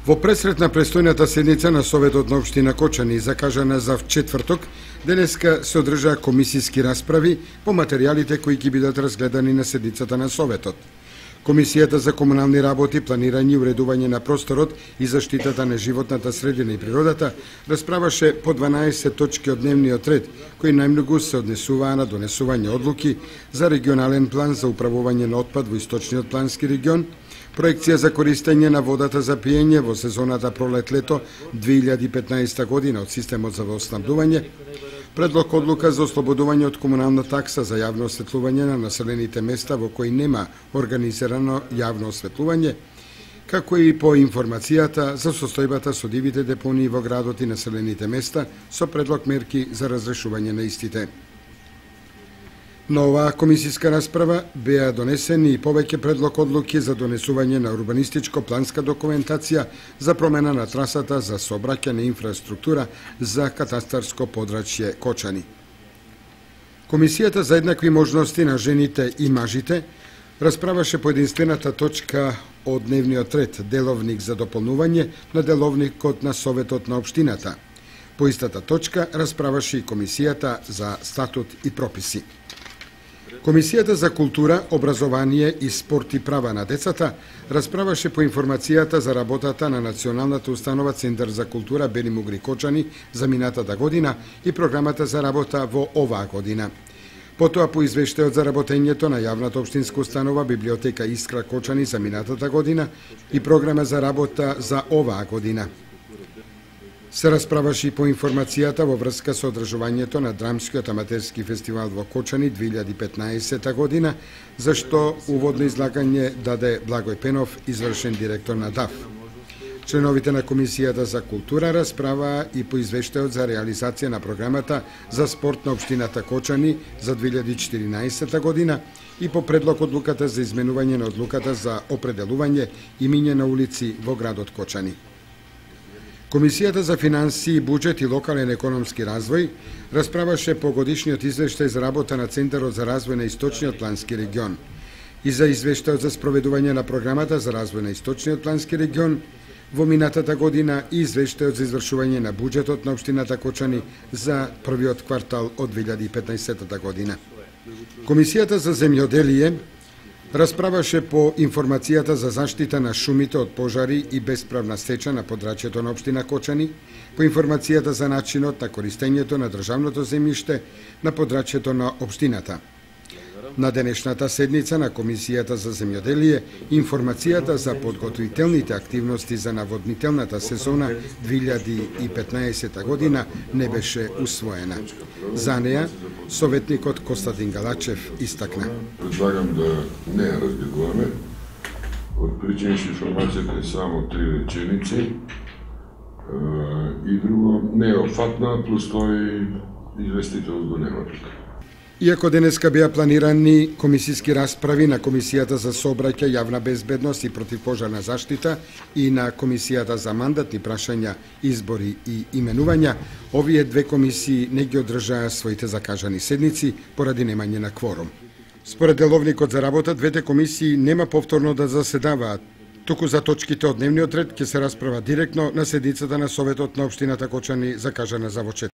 Во пресрет на престојната седница на Советот на општина Кочани, закажана за четврток, денеска се одржаа комисиски расправи по материјалите кои ќе бидат разгледани на седницата на Советот. Комисијата за комунални работи, планирање и уредување на просторот и заштитата на животната средина и природата расправаше по 12 точки од дневниот ред, кои најмногу се однесуваа на донесување одлуки за регионален план за управување на отпад во источниот плански регион, проекција за користење на водата за пиење во сезоната пролет-лето 2015 година од системот за водоснабдување, предлог одлука за ослободување од комунална такса за јавно осветлување на населените места во кои нема организирано јавно осветлување, како и по информацијата за состојбата со дивите депонии во градот и населените места со предлог мерки за разрешување на истите. На оваа комисиска расправа беа донесени и повеќе предлог одлуки за донесување на урбанистичко-планска документација за промена на трасата за сообраќајна инфраструктура за катастарско подрачје Кочани. Комисијата за еднакви можности на жените и мажите расправаше по единствената точка од дневниот ред, деловник за дополнување на деловникот на Советот на општината. По истата точка расправаше и Комисијата за статут и прописи. Комисијата за култура, образование и спорт и права на децата расправаше по информацијата за работата на Националната установа Центар за култура Бели Мугри Кочани за минатата година и програмата за работа во оваа година. Потоа по извештајот за работењето на јавната општинска установа Библиотека Искра Кочани за минатата година и програма за работа за оваа година. Се расправаше и по информацијата во врска со одржувањето на Драмскиот аматерски фестивал во Кочани 2015 година, за што уводно излагање даде Благој Пенов, извршен директор на ДАФ. Членовите на Комисијата за култура расправаа и по извештајот за реализација на програмата за спорт на општината Кочани за 2014 година и по предлог одлуката за изменување на одлуката за определување имиња на улици во градот Кочани. Комисијата за финансии, буџет и локален економски развој расправаше по годишниот извештај за работа на Центарот за развој на Источниот плански регион и за извештајот за спроведување на програмата за развој на Источниот плански регион во минатата година и извештајот за извршување на буџетот на општината Кочани за првиот квартал од 2015 година. Комисијата за земјоделие расправаше по информацијата за заштита на шумите од пожари и бесправна сеча на подрачјето на општина Кочани, по информацијата за начинот на користењето на државното земјиште на подрачјето на општината. На денешната седница на Комисијата за земјоделие, информацијата за подготвителните активности за наводнителната сезона 2015 година не беше усвоена. За неа, советникот Костадин Галачев истакна. Предлагам да не ја разгледуваме. Од причини што информацијата е само 3 реченици и друго не е опфатна, плюс тој известител го нема тука. Иако денеска беа планирани комисиски расправи на Комисијата за сообраќај, јавна безбедност и противпожарна заштита и на Комисијата за мандатни прашања, избори и именувања, овие две комисии не ги одржаа своите закажани седници поради немање на кворум. Според деловникот за работа, двете комисии нема повторно да заседаваат, туку за точките од дневниот ред ќе се расправа директно на седницата на Советот на општината Кочани закажана за во четврток.